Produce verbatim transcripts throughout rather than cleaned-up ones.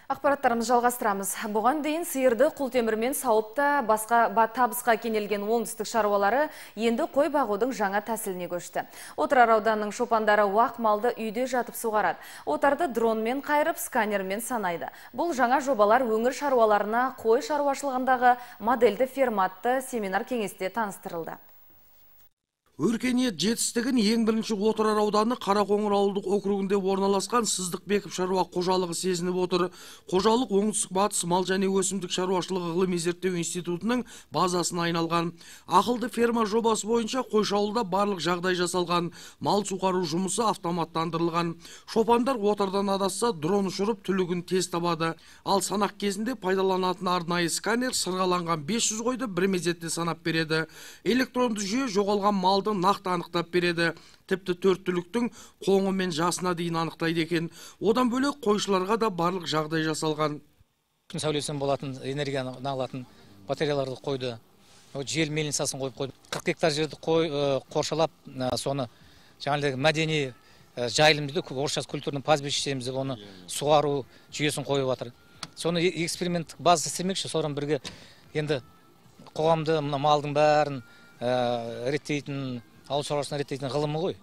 Ақпараттарымыз жалғастырамыз. Бұған дейін сиырды құлтемірмен сауып та басқа табысқа кенелген оңтүстік шаруалары енді қой бағудың жаңа тәсіліне көшті. Отырар ауданының шопандары уақ малды үйде жатып суғарады. Отарды дронмен қайырып, сканермен санайды. Бұл жаңа жобалар өңір шаруаларына қой шаруашылығындағы модельді форматты семинар кеңесте таныстырылды. Өркениет жетістігін ең бірінші Отырар ауданы Қарақоңыр ауылдық округінде орналасқан Сыздықбеков шаруа қожалығы сезініп отыр. Қожалық оңтүстік батыс мал және өсімдік шаруашылығы ғылыми зерттеу институтының базасына айналған. Ақылды ферма жобасы бойынша қойшауылда барлық жағдай жасалған. Мал суғару жұмысы автоматтандырылған. Шопандар отардан адасса дрон ұшырып түлігін тез табады. Ал санақ кезінде пайдаланатын арнайы сканер сырғаланған бес жүз қойды бір мезетте санап береді. Электронды жүйе жоғалған малды нақты анықтап береді. Тіпті төрт түліктің қоңы мен жасына дейін анықтайды екен. Одан бөлек қойшыларға да барлық жағдай жасалған. Күн сәулесінен болатын энергияны алатын батареяларды қойды. Жел мельницасын қойып қойды. қырық гектар жерді қоршалап, соны жаңағы мәдени жайылым дейді, орысша культурный пастбище дейміз, оны суару жүйесін қойып жатыр. Соны эксперименттік база істемекші, содан бірге енді қоғамды малдың бәрін реттейтін, ауыл шаруашылығын реттейтін ғылымы ғой.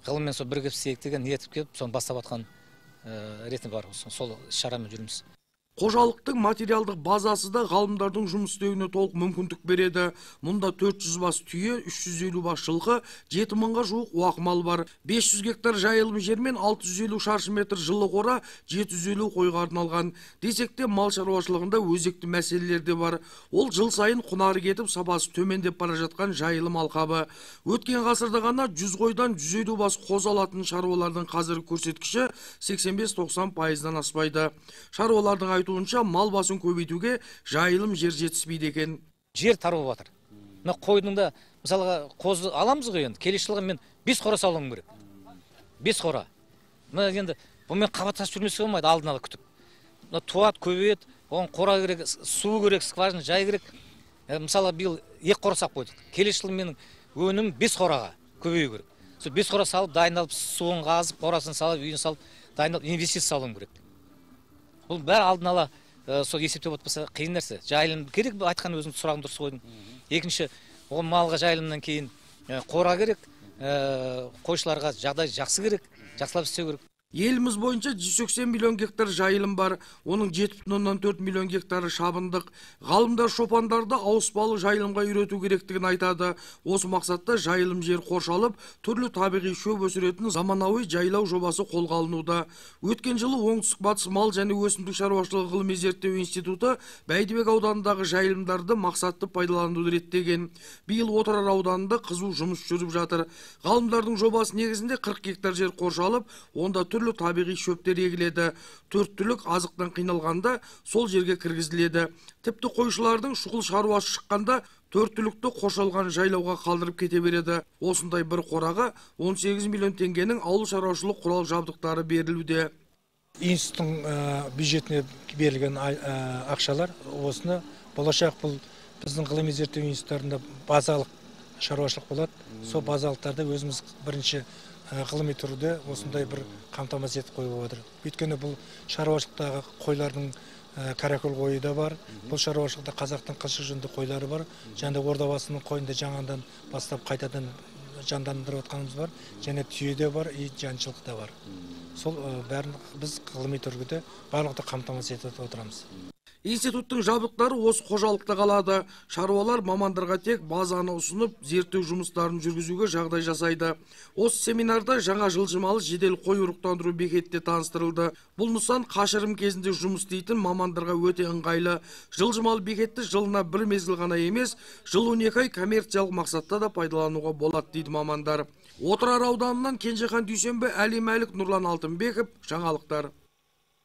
Ғылыммен сол бірігіп істейік деген ниет келіп, соны бастап жатқан реті бар. Сол шарамен жүрміз. Қожалықтың материалдық базасы да ғалымдардың жұмыс істеуіне толық мүмкіндік береді. Мұнда төрт жүз бас түйе, үш жүз елу бас жылқы, жеті мыңға жуық уақ мал бар. бес жүз гектар жайылым жер мен алты жүз елу шаршы метр жылы қора, жеті жүз елу қойға арналған. Десек те мал шаруашылығында өзекті мәселелер де бар. Ол жыл сайын құнары кетіп, сапасы төмендеп бара жатқан жайылым алқабы. Өткен ғасырда ғана жүз қойдан жүз елу бас қозы алатын шаруалардың қазіргі көрсеткіші сексен бес тоқсан пайыздан аспайды. Шаруалардың айтуынша мал басын көбейтуге жайылым жер жетіспейді екен. Жер тарылып жатыр. Мына қойдың да, мысалға, қозы аламыз ғой енді, келесі жылға мен бес қора салуым керек. бес қора. Мына енді бұмен қабаттасып жүрмесе болмайды, алдын ала күтіп. Мына туат, көбейет, оған қора керек, су керек, скважина, жай керек. Мысалы, биыл екі қора сап қойдық. Келесі жылы менің өнім бес қораға көбею керек. Сол бес қора салып, дайындалып, суын қазып, қорасын салып, үйін салып, дайындалып, инвестиция салуым керек. Бұл бәрі алдын ала сол есептеп отпаса қиын нәрсе. Жайылым керек, айтқан өзің сұрағын дұрыс қойдың. Екінші, ол малға жайылымнан кейін қора керек, қойшыларға жағдай жақсы керек, жақсылап істеу керек. Еліміз бойынша жүз сексен миллион гектар жайылым бар. Оның жеті бүтін оннан төрт миллион гектары шабындық. Ғалымдар шопандарды ауыспалы жайылымға үйрету керектігін айтады. Осы мақсатта жайылым жер қоршалып, түрлі табиғи шөп өсіретін заманауи жайлау жобасы қолға алынуда. Өткен жылы оңтүстік батыс мал және өсімдік шаруашылығы ғылыми зерттеу институты Бәйдібек ауданындағы жайылымдарды мақсатты пайдалануды реттеген. Биыл Отырар ауданында қызу жұмыс жүріп жатыр. Ғалымдардың жобасы негізінде қырық гектар жер қоршалып, онда түрлі табиғи шөптер егіледі. Төрт түлік азықтан қиналғанда сол жерге кіргізіледі. Тіпті қойшылардың шұғыл шаруасы шыққанда төрт түлікті қоршалған жайлауға қалдырып кете береді. Осындай бір қораға он сегіз миллион теңгенің ауыл шаруашылық құрал жабдықтары берілуде. Институттың бюджетіне берілген ақшалар осыны болашақ бұл біздің ғылыми зерттеу институттарында базалық шаруашылық болады. Сол базалықтарды өзіміз бірінші ғылыми түрде осындай бір қамтамасыз етіп қойып отыр. Өйткені бұл шаруашылықтағы қойлардың каракөл қойы да бар. Бұл шаруашылықта қазақтың қылшы жүнді қойлары бар. Және ордабасының қойында жаңадан бастап қайтадан жандандырып отқанымыз бар. Және түйе де бар, и жаншылық та бар. Сол бәрін біз ғылыми түрде барлықты қамтамасыз етіп отырамыз. Институттың жабдықтары осы қожалықта қалады. Шаруалар мамандарға тек базаны ұсынып, зерттеу жұмыстарын жүргізуге жағдай жасайды. Осы семинарда жаңа жылжымалы жедел қой ұрықтандыру бекетте таныстырылды. Бұл нысан қашырым кезінде жұмыс істейтін мамандарға өте ыңғайлы. Жылжымалы бекетті жылына бір мезгіл ғана емес, жыл он екі ай коммерциялық мақсатта да пайдалануға болады дейді мамандар. Отырар ауданынан Кенжехан Дүйсенбі, Әли Мәлік, Нұрлан Алтынбеков, жаңалықтар.